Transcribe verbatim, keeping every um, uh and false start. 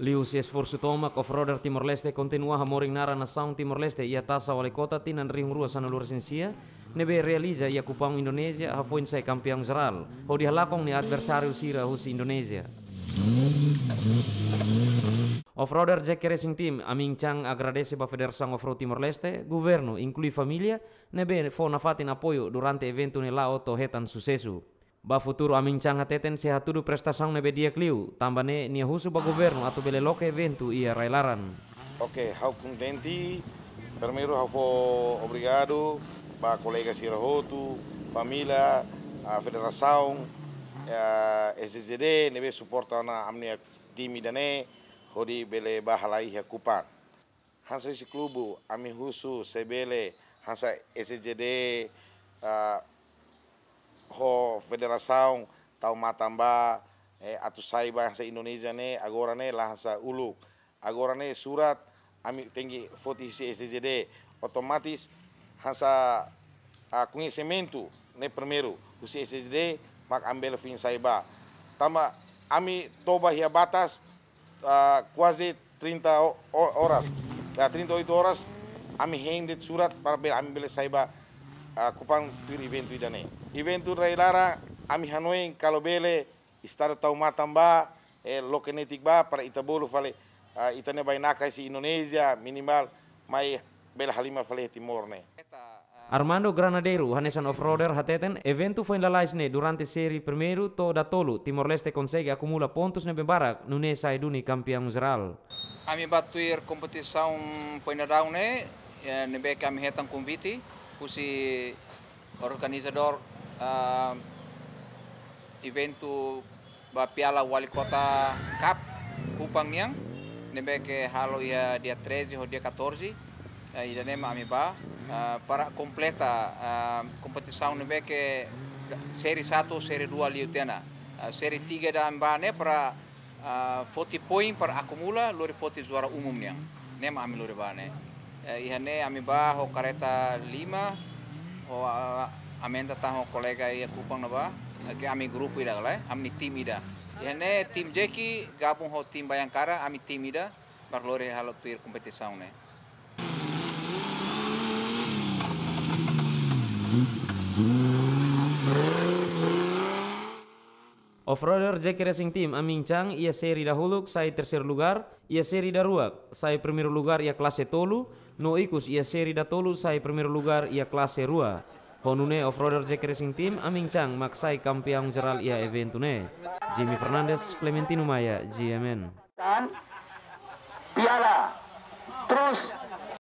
Liuhusi esforsu tomak, Offroader Timor-Leste kontinua hamorin naran nasaun Timor-Leste iha Tasa Wali Kota tinan rihun rua sanulu-resin-sia, ne'ebé realiza iha Kupang, Indonézia, hafoin sai kampeaun jerál, hodi halakon nia adversáriu sira husi Indonézia. Offroader Jack Racing Team, Amin Chang agradese ba Federasaun Offroad Timor-Leste, governu, inklui família, ne'ebé fó nafatin apoiu durante eventu ne'e la'o to'o hetan susesu. Ba futuru, Amin Chang hateten sei hatudu prestasaun ne'ebé di'ak liu, tanba ne'e nia husu ba governu atu bele loke eventu iha rai-laran. Oke, ha'u kontente. Primeiru, ha'u fó obrigadu ba kolega sira hotu, família, a federasaun, a S J D, ne'ebé suporta ona ami-nia time ida-ne'e, hodi bele bá halai iha Kupang. Hanesan husi klube, ami husu se bele hanesan S J D, ah, ho federasaun tau matan ba, eh, atu sai ba hanesan Indonézia ne'e, agora ne'e la hanesan uluk. Agora ne'e surat ami tenke foti husi S J D, otomatis hanesan, ah, koñesimentu ne'e primeiru husi S J D, mak ami bele foin sai ba. Tanba ami toba iha batas, ah, kuaze trinta o-, o-, oras. Ya, trinta e oito horas, ami hein de'it surat para bele ami bele sai ba, ah, Kupang tuir eventu ida-ne'e. Eventu rai-laran, ami hanoin kalau bele, Estadu tau matan ba, eh, loke netik ba, para ita bolu fali, ah, ita-nia bainaka husi Indonézia, minimal, mai bele halimar fali Timor ne'e. Armando Granadeiru, hanesan offroader, hateten, eventu foin lalais ne'e durante série primeiru to'o datolu, Timor-Leste konsege akumula pontus ne'ebé barak, nune'e sai duni kampeaun jerál. Ami bá tuir kompetisaun foin daudaun ne'e, eh, ne'ebé ke ami hetan konvite husi organizadór, ah, eventu ba Piala Wali Kota Cup Kupang nian, ne'ebé ke halo iha dia treze ho dia catorze, eh, ida-ne'e mak ami bá, ah, para kompleta, ah, kompetisaun ne'ebé ke série satu, série dua liu tiha ona. Ah, série tiga ida ami bá ne'e para, ah, foti poin para akumula, lori foti juara umum nian. Ne'e mak ami lori bá ne'e. Eh, iha ne'e ami bá ho karreta lima, ho, ah, aumenta tan ho kolega iha Kupang ne'ebá, ke ami grupu ida ka lae, ami-nia tim ida. Iha ne'e tim Jeki gabung ho tim Bhayankara, ami tim ida, barak lori halo tuir kompetisaun ne'e. Offroader Jack Racing Team, Amin Chang, iha série dahuluk sai terseiru lugar, iha série daruak sai primeiru lugar iha klase tolu, no ikus iha série datolu sai primeiru lugar iha klase rua. Ho nune'e offroader Jack Racing Team, Amin Chang, mak sai kampeaun jerál iha eventu ne'e. Jimmy Fernandes, Clementino Maia, G M N. Kan? Piala. Terus